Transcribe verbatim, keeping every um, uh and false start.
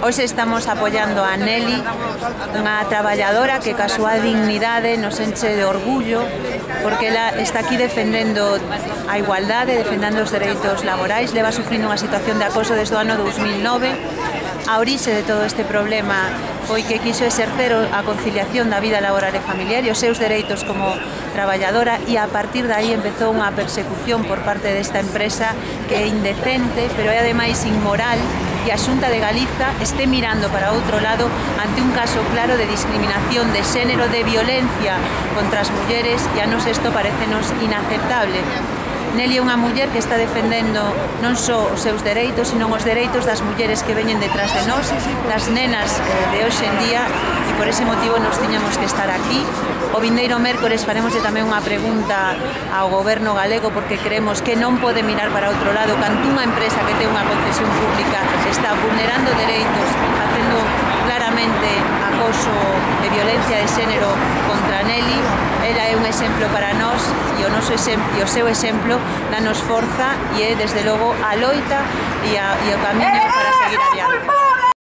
Hoxe estamos apoiando a Nelly, unha traballadora que ca súa dignidade nos enche de orgullo, porque ela está aquí defendendo a igualdade, defendendo os dereitos laborais, leva sufrindo unha situación de acoso desde o ano dous mil nove. A orixe de todo este problema foi que quiso exercer a conciliación da vida laboral e familiar e os seus dereitos como traballadora, e a partir de aí empezou unha persecución por parte desta empresa que é indecente, pero é ademais inmoral, e a Xunta de Galiza este mirando para outro lado ante un caso claro de discriminación de xénero, de violencia contra as mulleres, e a nos isto parecenos inaceptable. Nelly é unha muller que está defendendo non só os seus dereitos, sino os dereitos das mulleres que veñen detrás de nós, das nenas de hoxe en día, e por ese motivo nos tiñamos que estar aquí. O vindeiro mércores faremoslle tamén unha pregunta ao goberno galego, porque creemos que non pode mirar para outro lado cando unha empresa que ten unha concesión pública está vulnerando dereitos e facendo claramente acoso e violencia de xénero contra Nelly. Ela é un exemplo para nós, e o noso exemplo, e o seu exemplo danos forza, e é desde logo a loita e, a, e o camiño para seguir adiante.